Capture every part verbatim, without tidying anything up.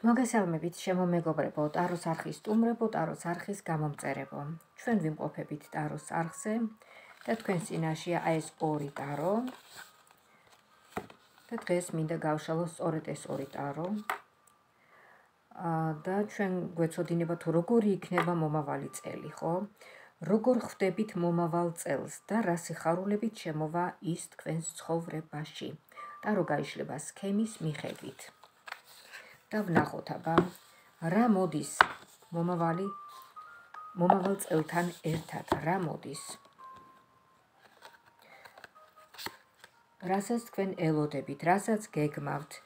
მოგესალმებით შემომეგობრებო, ტაროს არხის სტუმრებო, ტაროს არხის გამომწერებო. ჩვენ ვიმყოფებით ტაროს არხზე და თქვენს წინაშეა აი ეს ორი ტარო. და დღეს მინდა გავშალო სწორედ ეს ორი ტარო. და ჩვენ გვეცოდინება თუ როგორი იქნება მომავალი წელი, ხო? როგორ ხვდებით მომავალ წელს და რა სიხარულებით შემოვა ის თქვენს ცხოვრებაში. ტარო გაიშლება სქემის მიხედვით. და ვნახოთ აბა რა მოდის მომავალი მომავალ წელთან ერთად რა მოდის რასაც თქვენ ელოდებით, რასაც გეგმავთ,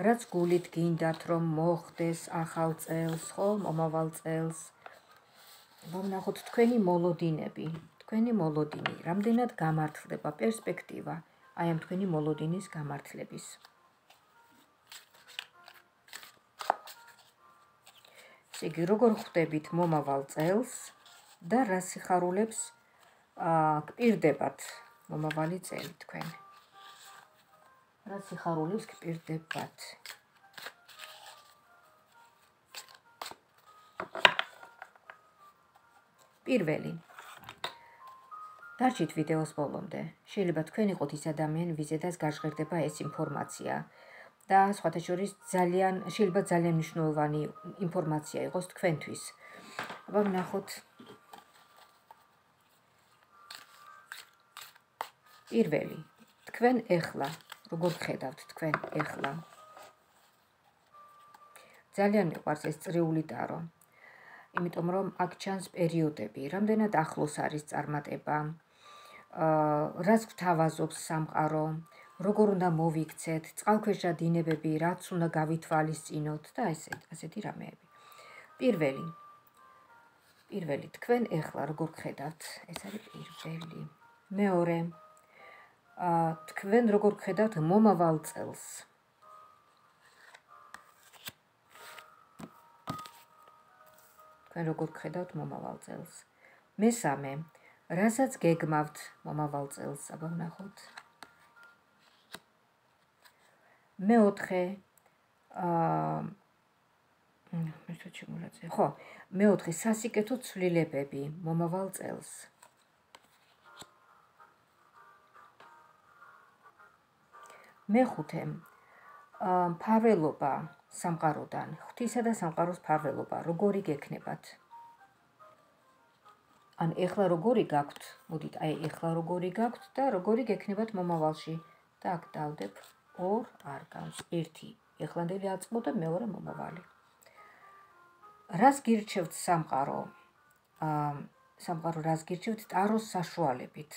რაც გულით გინდათ რომ მოხდეს ახალ წელს, ხო, მომავალ წელს. ვნახოთ თქვენი მოლოდინები, თქვენი მოლოდინი, რამდენად გამართლდება პერსპექტივა აი ამ თქვენი მოლოდინის გამართლების. იგი როგორ ხვდებით მომავალ წელს და რა სიხარულებს გპირდებათ მომავალი წელი თქვენ. რა სიხარულებს გპირდებათ. პირველი. დარჩით ვიდეოს ბოლომდე. შეიძლება თქვენ იყოთ ის ადამიანი, ვიზედაც გაჟღერდება ეს ინფორმაცია. და სხვათა შორის ძალიან შეიძლება ძალიან მნიშვნელოვანი ინფორმაცია იყოს თქვენთვის. აბა ვნახოთ პირველი. თქვენ ეხლა, როგორ ხედავთ თქვენ ეხლა. ძალიან მიყვარს ეს წრიული ტარო. იმიტომ რომ აქ ჩანს პერიოდები, რამდენად ახლოს არის წარმატება, რაც გთავაზობს სამყარო, როგორ უნდა მოვიქცეთ, წყალქვეშა დინებები, რაც უნდა გავითვალისწინოთ და ესე ასეთი რამეები. პირველი. პირველი, თქვენ ეხლა როგორ ხედავთ, ეს არის პირველი. მეორე. თქვენ როგორ ხედავთ მომავალ წელს. თქვენ როგორ ხედავთ მომავალ წელს. მესამე, რასაც გეგმავთ მომავალ წელს, აბა ვნახოთ. მეოთხე, აა მეთქე შემოწე. ხო, მეოთხე სასიკეთო ცვლილებები მომავალ წელს. მეხუთე, ფარველობა სამყაროდან, ღვთისა და სამყაროს ფარველობა, როგორი გექნებათ. ან ეხლა როგორი გაქვთ, მოდით აი ეხლა როგორი გაქვთ და როგორი გექნებათ მომავალში. და აქ დავდებ ორ არკანს. ერთი ეხლანდელი აწყო და მეორე მომავალი. რას გირჩევთ სამყარო? აა სამყარო რას გირჩევთ ტაროს საშუალებით?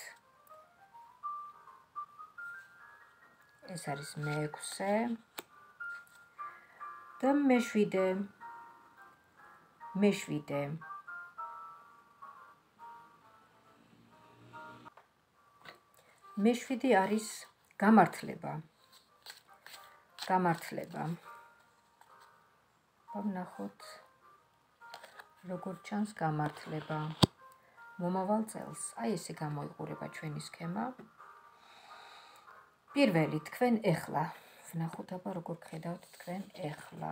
ეს არის მეექვსე და მეშვიდე. მეშვიდე. მეშვიდე არის გამართლება. გამართლება. ვნახოთ როგორ ჩანს გამართლება მომავალ წელს. აი ესე გამოიყურება ჩვენი სქემა. პირველი, თქვენ ეხლა. ვნახოთ აბა როგორ ხედავთ თქვენ ეხლა.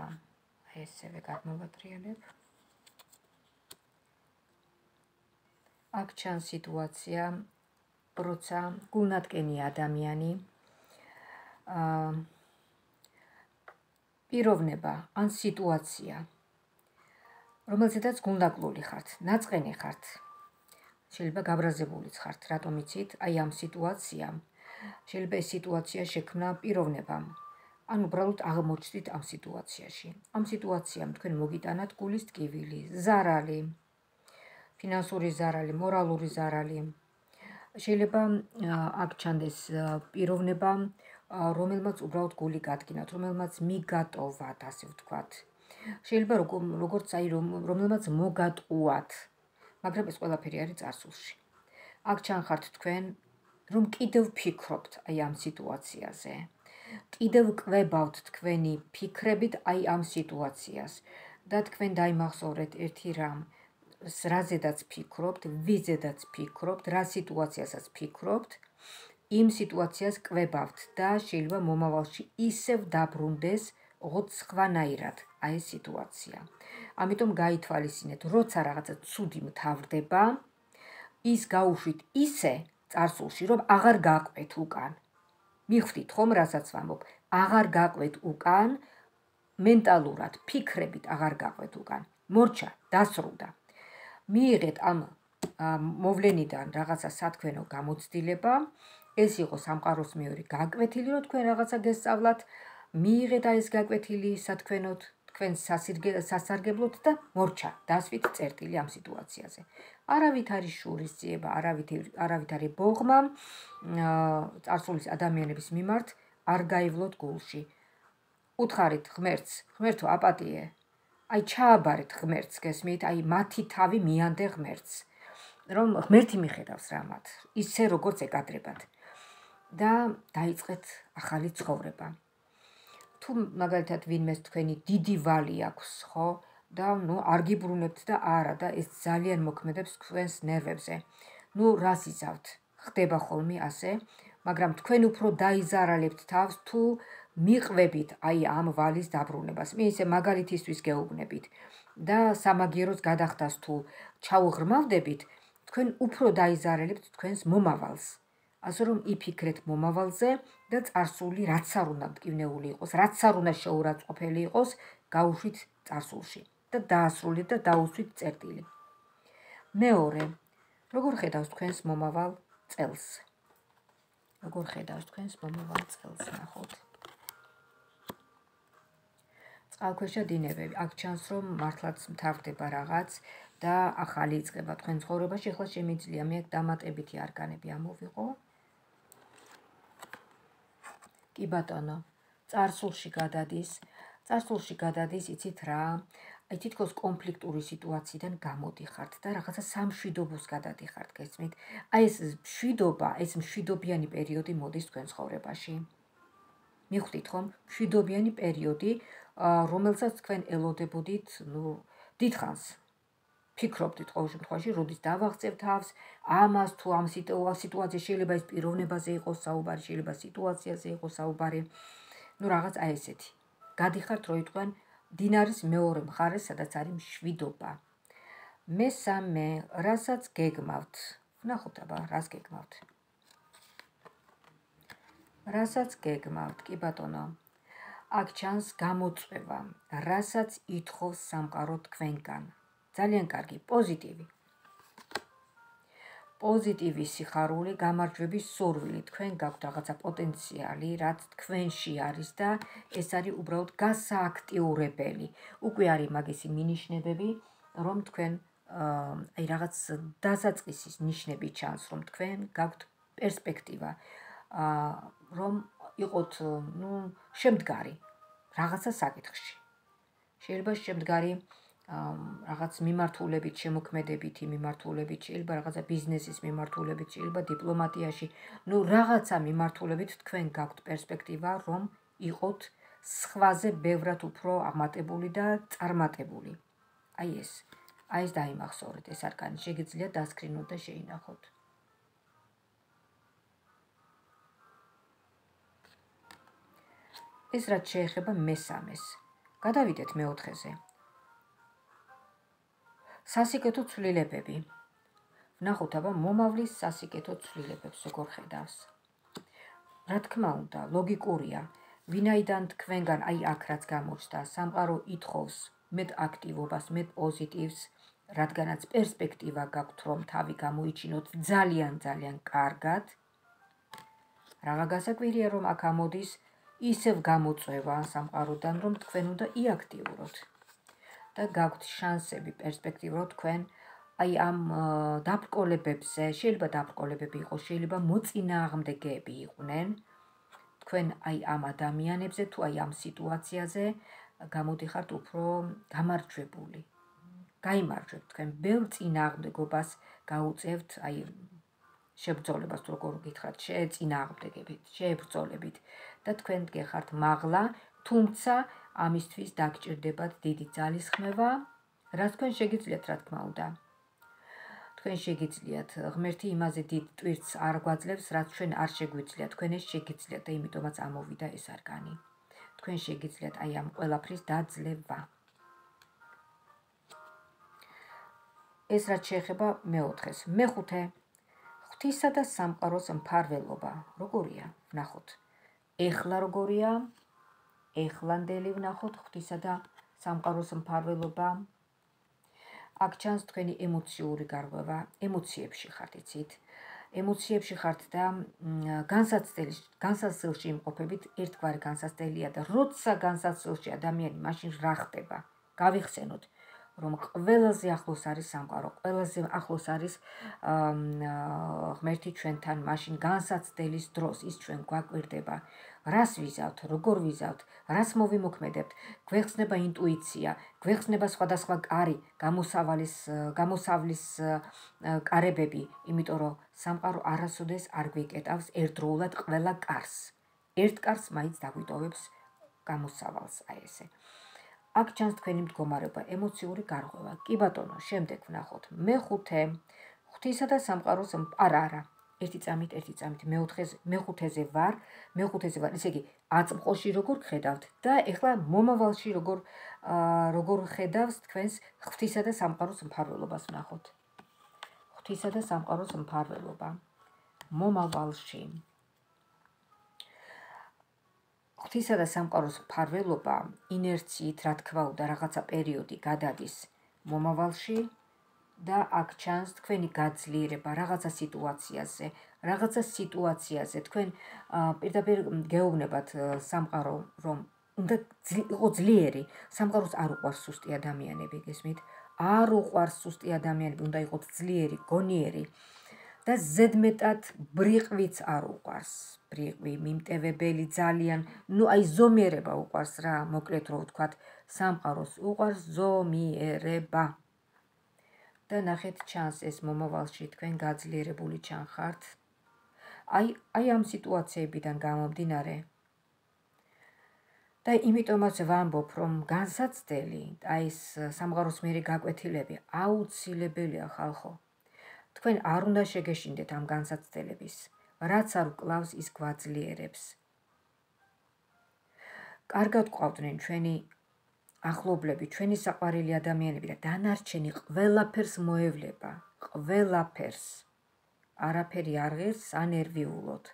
აი ესევე გადმოვატრიალებ. აქ ჩანს სიტუაცია, როცა გულნათკენი ადამიანი აა პიროვნება ან სიტუაცია, რომელზედაც გულნაკლული ხართ, ნაწყენი ხართ. შეიძლება გაბრაზებულიც ხართ, რატომ იცით? აი ამ სიტუაციამ შეიძლება ეს სიტუაცია შექმნა პიროვნებამ. ან უბრალოდ აღმოჩნდით ამ სიტუაციაში. ამ სიტუაციამ თქვენ მოგიტანათ გულის ტკივილი, ზარალი, ფინანსური ზარალი, მორალური ზარალი. შეიძლება აქ ჩანდეს პიროვნება, რომელმაც უბრალოდ გული გადგინათ, რომელმაც მიგატოვათ, ასე ვთქვათ. შეიძლება როგორც აი რომელმაც მოგატყუათ, მაგრამ ეს ყველაფერი არის წარსულში. აქ ჩანხართ თქვენ, რომ კიდევ ფიქრობთ აი ამ სიტუაციაზე. კიდევ კვებავთ თქვენი ფიქრებით აი ამ სიტუაციას და თქვენ დაიმახსოვრეთ ერთი რამ, რაზედაც ფიქრობთ, ვიზედაც ფიქრობთ, რა სიტუაციასაც ფიქრობთ, იმ სიტუაციას კვებავთ და შეიძლება მომავალში ისევ დაბრუნდეს, ოღონდ სხვანაირად, აი ეს სიტუაცია. ამიტომ გაითვალისწინეთ, როცა რაღაცა ცუდი მთავრდება, ის გაუშვით ისე წარსულში, რომ აღარ გაყვეთ უკან. მიხვდით ხომ, რასაც ვამბობ, აღარ გაყვეთ უკან, მენტალურად, ფიქრებით აღარ გაყვეთ უკან. მორჩა, დასრულდა. მიიღეთ ამ მოვლენიდან რაღაცა სათქმელო გამოცდილება, ეს იყო სამყაროს მეორე გაკვეთილი, რომ თქვენ რაღაცა გესწავლათ, მიიღეთ აი ეს გაკვეთილი სათქმელოდ, თქვენ სასარგებლოდ და მორჩა, დასვით წერტილი ამ სიტუაციაზე. არავით არის შურისძიება, არავით არის ბოღმა წარსულის ადამიანების მიმართ არ გაივლოთ გულში. უთხარით ღმერთს, ღმერთო აპატიე, აი ჩააბარეთ ღმერთს, გესმით, აი მათი თავი მიანდე ღმერთს, რომ ღმერთი მიხედავს რამათ, ისე როგორც ეკადრებათ და დაიწყეთ ახალი ცხოვრება. თუ მაგალითად ვინმეს თქვენი დიდი ვალი აქვს, ხო, და ნუ არ გიბრუნებთ და არა და ეს ძალიან მოქმედებს თქვენს ნერვებზე. ნუ რას იზავთ? ხდება ხოლმე ასე, მაგრამ თქვენ უფრო დაიზარალებთ თავს თუ მიყვებით აი ამ ვალის დაბრუნებას. მე ისე მაგალითისთვის გეუბნებით და სამაგიეროს გადახდას თუ ჩაუღრმავდებით, თქვენ უფრო დაიზარალებთ თქვენს მომავალს. ასე რომ იფიქრეთ მომავალზე და წარსული რაც არ უნდა მტკივნეული იყოს, რაც არ უნდა შეურაცხყოფელი იყოს, გაუშვით წარსულში და დაასრულეთ და დაუსვით წერტილი. მეორე, როგორ ხედავს თქვენს მომავალ წელს? როგორ ხედავს თქვენს მომავალ წელს, ნახოთ. წყალქვეშა დინებები, აქ ჩანს, რომ მართლაც მთავრდება რაღაც და ახალი იწყება თქვენ ცხოვრებაში, ახლა შემიძლია მე დამატებითი არკანები ამოვიღო. კი ბატონო, წარსულში გადადის, წარსულში გადადის, იცით რა, აი თითქოს კონფლიქტური სიტუაციიდან გამოდიხართ და რაღაცა სამშვიდობოს გადადიხართ, გესმით? აი ეს მშვიდობა, ეს მშვიდობიანი პერიოდი მოდის თქვენ ცხოვრებაში. მიხვდით ხომ? მშვიდობიანი პერიოდი, რომელსაც თქვენ ელოდებოდით, ნუ, დიდხანს. ფიქრობდით ყოველ შემთხვევაში, როდის დავაღწევ თავს, ამას თუ ამ სიტუაციაში შეიძლება ეს პიროვნებაზე იყოს საუბარი, შეიძლება სიტუაციაზე იყოს საუბარი. ნუ რაღაც აი ესეთი. გადიხართ როიტყვენ დინარის მეორე მხარეს, სადაც არის მშვიდობა. მესამე, რასაც გეგმავთ. ვნახოთ აბა, რას გეგმავთ. რასაც გეგმავთ, კი ბატონო. აქ ჩანს გამოწვევა, რასაც ითხოვს სამყარო თქვენგან. ძალიან კარგი, პოზიტივი. პოზიტივი სიხარული, გამარჯვების სურვილი, თქვენ გაქვთ რაღაცა პოტენციალი, რაც თქვენში არის და ეს არის უბრალოდ გასააქტიურებელი. უკვე არის მაგისი მინიშნებები, რომ თქვენ აი რაღაც დასაწყისის ნიშნები ჩანს, რომ თქვენ გაქვთ პერსპექტივა, რომ იყოთ, ნუ, შემდგარი რაღაცა საკითხში. შეიძლება შემდგარი რაღაც მიმართულებით, შემოქმედებითი მიმართულებით, შეიძლება რაღაცა ბიზნესის მიმართულებით, შეიძლება დიპლომატიაში, ნუ რაღაცა მიმართულებით თქვენ გაქვთ პერსპექტივა, რომ იყოთ სხვაზე ბევრად უფრო აღმატებული და წარმატებული. აი ეს, აი ეს დაიმახსოვრეთ, ეს არკანი შეგიძლიათ დასკრინოთ და შეინახოთ. ეს რაც შეეხება მესამეს. გადავიდეთ მეოთხეზე. სასიკეთო ცვლილებები. ვნახოთ აბა მომავლის სასიკეთო ცვლილებებს როგორ ხედავს. რა თქმა უნდა, ლოგიკურია, ვინაიდან თქვენგან აი აქ რაც გამოჩნდა, სამყარო ითხოვს მეტ აქტივობას, მეტ პოზიტივს, რადგანაც პერსპექტივა გაქვთ, რომ თავი გამოიჩინოთ ძალიან ძალიან კარგად. რაღა გასაკვირია, რომ აქ ამოდის ისევ გამოწვევა სამყაროდან, რომ თქვენ უნდა იაქტიუროთ. და გაქვთ შანსები, პერსპექტივა, რომ თქვენ აი ამ დაბრკოლებებზე, შეიძლება დაბრკოლებები იყოს, შეიძლება მოწინააღმდეგეები იყვნენ, თქვენ აი ამ ადამიანებზე, თუ აი ამ სიტუაციაზე გამოდიხართ უფრო გამარჯვებული. გაიმარჯვებთ, თქვენ ბევრ წინააღმდეგობას გაუწევთ, აი შებრძოლებას თუ როგორ გითხრათ, შეეწინააღმდეგებით, შეებრძოლებით და თქვენ გეხართ მაღლა, თუმცა ამისთვის დაგჭირდებათ დიდი ძალისხმევა, რაც თქვენ შეგიძლიათ, რა თქმა უნდა. თქვენ შეგიძლიათ, ღმერთი იმაზე დიდ ტვირთს არ გვაძლევს, რაც ჩვენ არ შეგვიძლია, თქვენ ეს შეგიძლიათ და იმიტომაც ამოვიდა ეს არკანი. თქვენ შეგიძლიათ აი ამ ყველაფრის დაძლევა. ეს რაც შეეხება მეოთხეს. მეხუთე, ღვთისა და სამყაროს მფარველობა. როგორია? ვნახოთ. ეხლა როგორია? ეხლანდელი ვნახოთ ღვთისა და სამყაროს მფარველობა. აქ ჩანს თქვენი ემოციური გარღვევა, ემოციებში ხართ, იცით? ემოციებში ხართ და განსაცდელში იმყოფებით ერთგვარი განსაცდელია და როცა განსაცდელში ადამიანი მაშინ რა ხდება? გავიხსენოთ, რომ ყველაზე ახლოს არის სამყარო, ყველაზე ახლოს არის ღმერთი ჩვენთან, მაშინ განსაცდელის დროს ის ჩვენ გვაკვირდება. რას ვიზავთ, როგორ ვიზავთ, რას მოვიმოქმედებთ, გვეხსნება ინტუიცია, გვეხსნება სხვადასხვა კარი, გამოსავლის, გამოსავლის კარებები, იმიტომ რომ სამყარო არასოდეს არ გვიკეტავს ერთდროულად ყველა კარს. ერთ კარს მაინც დაგვიტოვებს გამოსავალს, აი ესე. აქ ჩანს თქვენი მდგომარეობა, ემოციური გარღვევა. კი ბატონო, შემდეგ ვნახოთ. მეხუთე, ღვთისა და სამყაროს არა, არა. ერთი წამით, ერთი წამით, მეოთხეზე, მეხუთეზე ვარ, მეხუთეზე ვარ, ესე იგი, აწმყოში როგორ ხედავთ და ეხლა მომავალში როგორ როგორ ხედავს თქვენს ღვთისა და სამყაროს მფარველობას ვნახოთ. ღვთისა და სამყაროს მფარველობა. მომავალში. ღვთისა და სამყაროს მფარველობა ინერციით, რა თქმა უნდა, რაღაცა პერიოდი გადადის მომავალში და აქ ჩანს თქვენი გაძლიერება რაღაცა სიტუაციაზე, რაღაცა სიტუაციაზე თქვენ პირდაპირ გეუბნებათ სამყარო, რომ უნდა იყო ძლიერი, სამყაროს არ უყვარს სუსტი ადამიანები, გესმით? არ უყვარს სუსტი ადამიანები, უნდა იყოთ ძლიერი, გონიერი და ზედმეტად ბრიყვიც არ უყვარს. ბრიყვი, მიმტევებელი ძალიან, ნუ აი ზომიერება უყვარს რა, მოკლედ რო ვთქვათ, სამყაროს უყვარს ზომიერება. და ნახეთ ჩანს ეს მომავალში თქვენ გაძლიერებული ჩანხართ. აი, აი ამ სიტუაციებიდან გამომდინარე. და იმიტომაც ვამბობ, რომ განსაცდელი, აი ეს სამყაროს მიერი გაკვეთილები აუცილებელია ხალხო. თქვენ არ უნდა შეგეშინდეთ ამ განსაცდელების, რაც არ ვკლავს ის გვაძლიერებს. კარგად გვყავდნენ ჩვენი ახლობლები, ჩვენი საყვარელი ადამიანები და დანარჩენი ყველაფერს მოევლება, ყველაფერს. არაფერი არ ღირს ანერვიულოდ.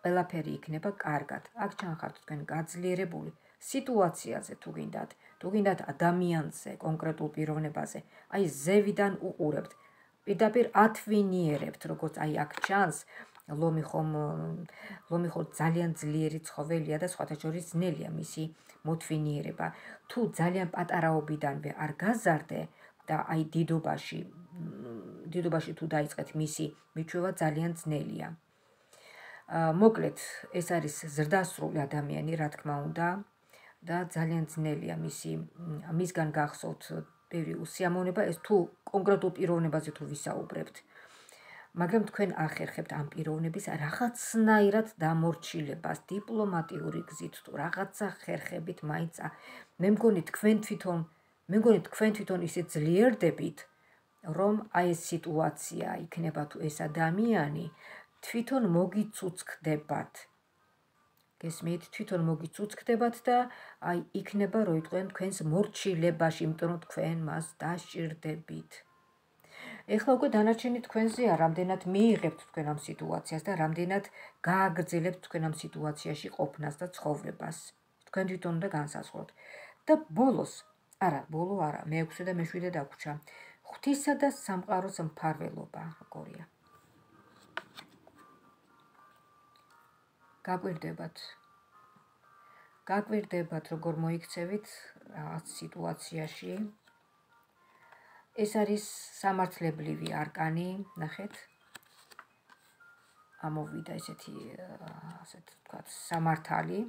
ყველაფერი იქნება კარგად. აქ ჩანხართ თქვენ გაძლიერებული სიტუაციაზე თუ გინდათ, თუ გინდათ ადამიანზე, კონკრეტულ პიროვნებაზე. აი ზევიდან უყურებთ. პირდაპირ ათვინიერებთ, როგორც აი აქ ჩანს, ლომი ხომ ლომი ხომ ძალიან ძლიერი ცხოველია და სხვათა შორის ძნელია მისი მოთვინიერება. თუ ძალიან პატარაობიდანვე არ გაზარდე და აი დიდობაში, დიდობაში თუ დაიწყეთ მისი მიჩვევა ძალიან ძნელია. მოკლედ, ეს არის ზრდასრული ადამიანი, რა თქმა უნდა, და ძალიან ძნელია მისი მისგან გახსოვთ ბევრი უსიამოვნება, ეს თუ კონკრეტულ პიროვნებაზე თუ ვისაუბრებთ. მაგრამ თქვენ ახერხებთ ამ პიროვნების რაღაცნაირად დამორჩილებას, დიპლომატიური გზით თუ რაღაცა ხერხებით მაინც. მე მგონი თქვენ თვითონ, მე მგონი თქვენ თვითონ ისე ძლიერდებით, რომ აი ეს სიტუაცია იქნება თუ ეს ადამიანი თვითონ მოგიცუცქდებათ. გესმით, თვითონ მოგიცუცქდებათ და აი იქნება რო იტყვიან თქვენს მორჩილებაში, იმიტომ რომ თქვენ მას დასჭირდებით. ეხლა უკვე დანარჩენი თქვენზეა, რამდენად მიიღებთ თქვენ ამ სიტუაციას და რამდენად გააგრძელებთ თქვენ ამ სიტუაციაში ყოფნას და ცხოვრებას. თქვენ თვითონ უნდა განსაზღვროთ. და ბოლოს, არა, ბოლო არა, მეექვსე და მეშვიდე დაგვრჩა. ღვთისა და სამყაროს მფარველობა, როგორია. გაკვირდებათ. გაკვირდებათ, როგორ მოიქცევით რაღაც სიტუაციაში. ეს არის სამართლებრივი არკანი, ნახეთ. ამოვიდა ესეთი, ასეთ ვთქვათ, სამართალი.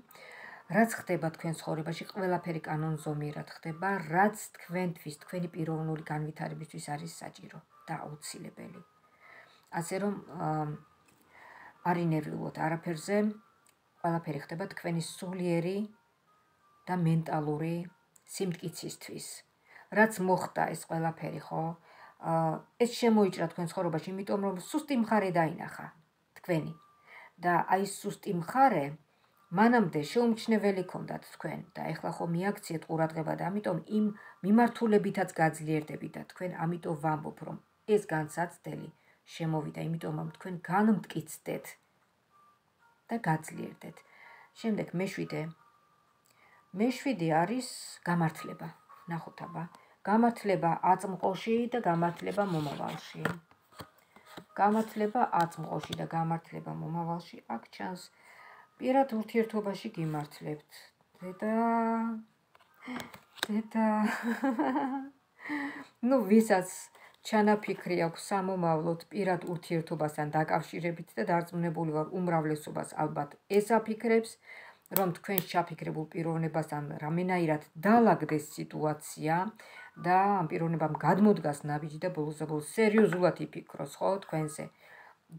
რაც ხდება თქვენ ცხოვრებაში, ყველაფერი კანონზომიერად ხდება, რაც თქვენთვის, თქვენი პიროვნული განვითარებისთვის არის საჭირო და აუცილებელი. ასე რომ არ ინერვიულოთ არაფერზე, ყველაფერი ხდება თქვენი სულიერი და მენტალური სიმტკიცისთვის. რაც მოხდა ეს ყველაფერი, ხო? ეს შემოიჭრა თქვენ ცხოვრებაში, იმიტომ რომ სუსტი მხარე დაინახა თქვენი. და აი სუსტი მხარე მანამდე შეუმჩნეველი ქონდათ თქვენ და ეხლა ხო მიაქციეთ ყურადღება და ამიტომ იმ მიმართულებითაც გაძლიერდებით და თქვენ ამიტომ ვამბობ, რომ ეს განსაცდელი შემოვიდა, იმიტომ რომ თქვენ განმტკიცდეთ და გაძლიერდეთ. შემდეგ მეშვიდე. მეშვიდე არის გამართლება. ნახოთ აბა. გამართლება აწმყოში და გამართლება მომავალში. გამართლება აწმყოში და გამართლება მომავალში. აქ ჩანს პირად ურთიერთობაში გიმართლებთ. დედა დედა ну ვისაც ჩანაფიქრი აქვს სამომავლოდ პირად ურთიერთობასთან დაკავშირებით და დარწმუნებული ვარ უმრავლესობას ალბათ ეს აფიქრებს, რომ თქვენს ჩაფიქრებულ პიროვნებასთან რამენაირად დაალაგდეს სიტუაცია და ამ პიროვნებამ გადმოდგას ნაბიჯი და ბოლოს-ბოლოს სერიოზულად იფიქროს, ხო, თქვენზე.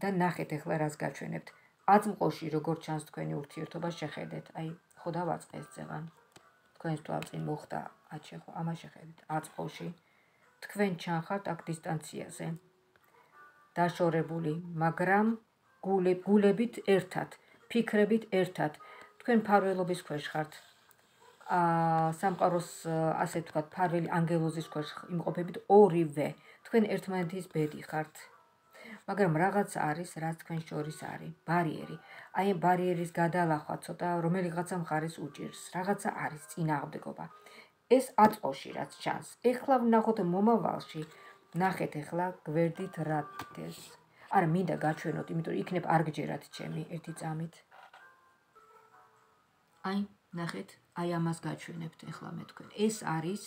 და ნახეთ ახლა რას გაჩვენებთ. აწმყოში როგორ ჩანს თქვენი ურთიერთობა შეხედეთ. აი, ხო დავაწყეს წევან. თქვენს თვალწინ მოხდა, აჩე ხო, ამას შეხედეთ. აწმყოში თქვენ ჩანხართ აქ დისტანციაზე. დაშორებული, მაგრამ გულებით ერთად, ფიქრებით ერთად. თქვენ მფარველობის ქვეშ ხართ. აა სამყაროს ასე ვთქვათ, მფარველი ანგელოზის ქვეშ იმყოფებით ორივე. თქვენ ერთმანეთის ბედი ხართ. მაგრამ რაღაც არის, რაც თქვენ შორის არის, ბარიერი. აი ამ ბარიერის გადალახვა ცოტა რომელიღაცა მხარეს უჭირს. რაღაცა არის წინააღმდეგობა. ეს აწმყოში რაც ჩანს. ეხლა ვნახოთ მომავალში. ნახეთ ეხლა გვერდით რა დეს. არა, მინდა გაჩვენოთ, იმიტომ რომ იქნებ არ გჯერათ ჩემი ერთი წამით. აი, ნახეთ, აი ამას გაჩვენებთ ეხლა მე თქვენ. ეს არის,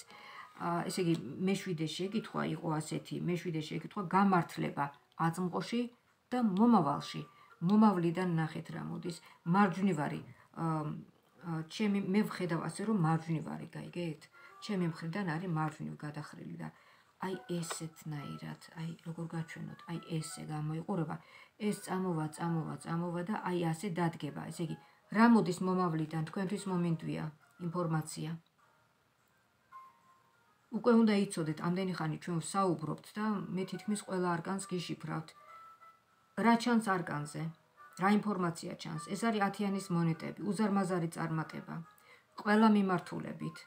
ესე იგი, მეშვიდე შეკითხვა იყო ასეთი, მეშვიდე შეკითხვა გამართლება აწმყოში და მომავალში. მომავლიდან ნახეთ რა მოდის. მარჯვნივარი, ჩემი მე ვხედავ ასე რომ მარჯვნივარი, გაიგეთ? ჩემი მხრიდან არის მარჯვნივ გადახრილი და აი ესეთნაირად, აი როგორ გაჩვენოთ, აი ესე გამოიყურება. ეს წამოვა, წამოვა, წამოვა და აი ასე დადგება. ესე იგი, რა მოდის მომავლიდან, თქვენთვის მომინდვია ინფორმაცია. უკვე უნდა იცოდეთ, ამდენი ხანი ჩვენ ვსაუბრობთ და მე თითქმის ყველა არკანს გიშიფრავთ. რა ჩანს არკანზე? რა ინფორმაცია ჩანს? ეს არის ათიანის მონეტები, უზარმაზარი წარმატება. ყველა მიმართულებით.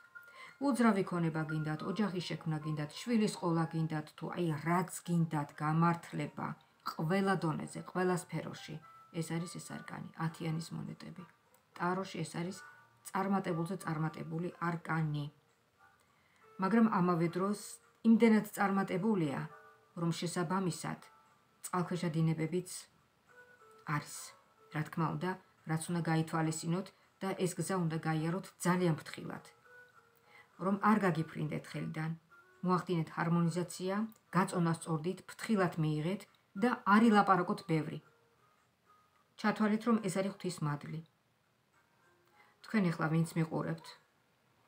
უძრავი ქონება გინდათ, ოჯახის შექმნა გინდათ, შვილის ყოლა გინდათ, თუ აი რაც გინდათ, გამართლება, ყველა დონეზე, ყველა სფეროში. ეს არის ეს არკანი, ათიანის მონეტები. ტაროში ეს არის წარმატებულზე წარმატებული არკანი. მაგრამ ამავე დროს იმდენად წარმატებულია, რომ შესაბამისად წყალქვეშა დინებებიც არის. რა თქმა უნდა, რაც უნდა გაითვალისწინოთ და ეს გზა უნდა გაიაროთ ძალიან ფრთხილად. რომ არ გაგიფრინდეთ ხელიდან, მოახდინეთ ჰარმონიზაცია, გაწონა სწორდით, ფრთხილად მიიღეთ და არ ილაპარაკოთ ბევრი. ჩათვალეთ, რომ ეს არის ღვთის მადლი. თქვენ ახლა ვინც მიყურებთ,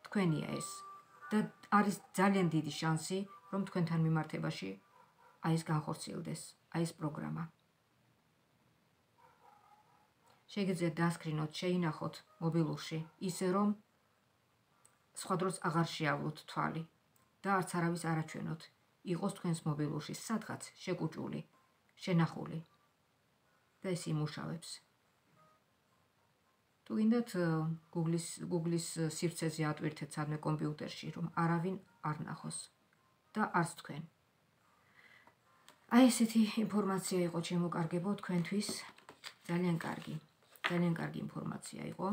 თქვენია ეს და არის ძალიან დიდი შანსი, რომ თქვენთან მიმართებაში აი ეს განხორციელდეს, აი ეს პროგრამა. შეგიძლიათ დასკრინოთ, შეინახოთ მობილურში, ისე რომ სხვა დროს აღარ შეავლოთ თვალი და არც არავის არ აჩვენოთ. იყოს თქვენს მობილურში სადღაც შეკუჭული, შენახული და ეს იმუშავებს. თუ გინდათ Google-ის Google-ის სივრცეზე ატვირთეთ სადმე კომპიუტერში, რომ არავინ არ ნახოს და არც თქვენ. აი ესეთი ინფორმაცია იყო შემოკარგებო თქვენთვის, ძალიან კარგი, ძალიან კარგი ინფორმაცია იყო.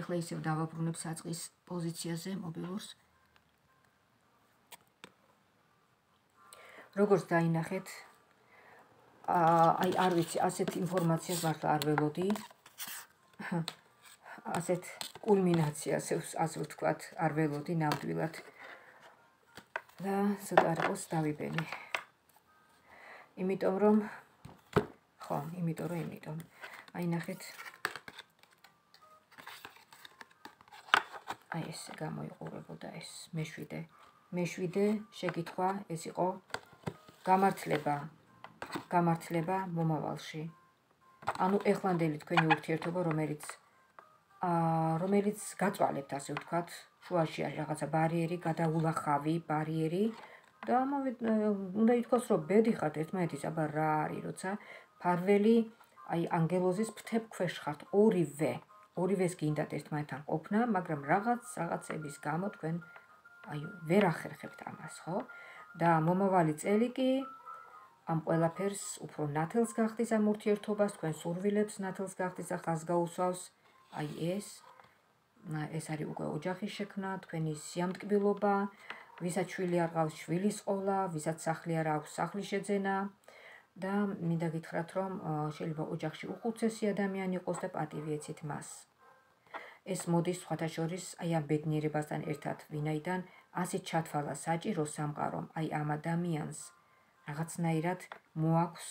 ეხლა ისევ დავაბრუნებ საწყის პოზიციაზე მობილურს. როგორც დაინახეთ, აი არ ვიცი, ასეთ ინფორმაციას მართლა არ ველოდი. ასეთ კულმინაციას, ასე ვთქვათ, არ ველოდი ნამდვილად. და ცოტა არ იყოს დავიბენი. იმიტომ რომ ხო, იმიტომ რომ იმიტომ. აი ნახეთ. აი ესე გამოიყურებოდა ეს მეშვიდე. მეშვიდე შეკითხვა ეს იყო გამართლება. გამართლება მომავალში. ანუ ეხლანდელი თქვენი ურთიერთობა, რომელიც აა რომელიც გაწვალებთ, ასე ვთქვათ, შუაში არის რაღაცა ბარიერი, გადაულახავი ბარიერი და ამავე უნდა ითქვას, რომ ბედი ხართ ერთმანეთის, აბა რა არის, როცა ფარველი აი ანგელოზის ფრთებ ქვეშ ხართ ორივე. ორივეს გინდათ ერთმანეთთან ყოფნა, მაგრამ რაღაც რაღაცების გამო თქვენ აი ვერ ახერხებთ ამას, ხო? და მომავალი წელი კი ამ ყველაფერს უფრო ნათელს გახდის ამ ურთიერთობას, თქვენ სურვილებს ნათელს გახდის და ხაზს გაუსვავს აი ეს. ეს არის უკვე ოჯახის შექმნა, თქვენი სიამტკბილობა, ვისაც შვილი არ ყავს შვილის ყოლა, ვისაც სახლი არ აქვს სახლის შეძენა და მინდა გითხრათ, რომ შეიძლება ოჯახში უხუცესი ადამიანი იყოს და პატივი ეცით მას. ეს მოდის სხვათა შორის აი ამ ბედნიერებასთან ერთად, ვინაიდან ასე ჩათვალა საჭირო სამყარომ აი ამ ადამიანს რაღაცნაირად მოაქვს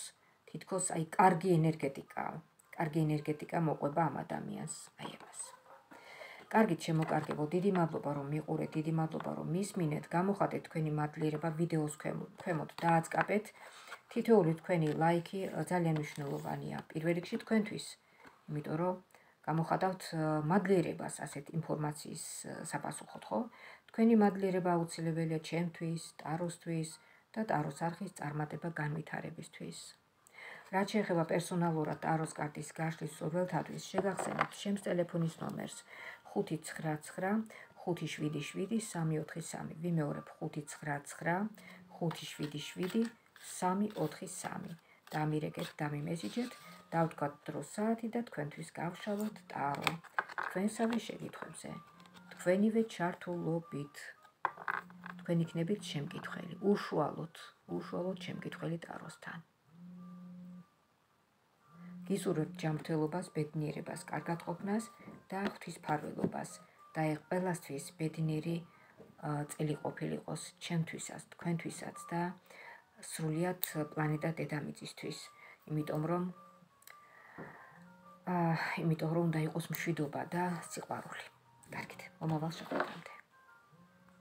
თითქოს აი კარგი ენერგეტიკა, კარგი ენერგეტიკა მოყვება ამ ადამიანს აი ამას. კარგით შემოკარგებო, დიდი მადლობა რომ მიყურეთ, დიდი მადლობა რომ მისმინეთ, გამოხატეთ თქვენი მადლიერება ვიდეოს ქვემოთ დააწყაბეთ. თითოეული თქვენი ლაიქი ძალიან მნიშვნელოვანია პირველ რიგში თქვენთვის, იმიტომ რომ გამოხატავთ მადლიერებას ასეთ ინფორმაციის საპასუხოდ, ხო? თქვენი მადლიერება აუცილებელია ჩემთვის, ტაროსთვის და ტაროს არხის წარმატება განვითარებისთვის. რაც შეეხება პერსონალურად ტაროს კარტის გაშლის მსურველთათვის, შეგახსენებთ ჩემს ტელეფონის ნომერს ხუთი ცხრა ცხრა ხუთი შვიდი შვიდი სამი ოთხი სამი. ვიმეორებ ხუთი ცხრა ცხრა ხუთი შვიდი შვიდი სამი ოთხი სამი. დამირეკეთ, დამიმესიჯეთ, დავთქვათ დრო საათი და თქვენთვის გავშალოთ ტარო. თქვენსავე შეკითხვებზე, თქვენივე ჩართულობით. თქვენ იქნებით შემკითხველი, უშუალოდ, უშუალოდ შემკითხველი ტაროსთან. გისურვებთ ჯანმრთელობას, ბედნიერებას, კარგად ყოფნას და ღვთისმფარველობას და აი ყველასთვის ბედნიერი წელი ყოფილიყოს ჩემთვისაც, თქვენთვისაც და სრულიად პლანეტა დედამიწისთვის, იმიტომ რომ აა, იმიტომ რომ უნდა იყოს მშვიდობა და სიყვარული. კარგით, მომავალ შეხვედრამდე.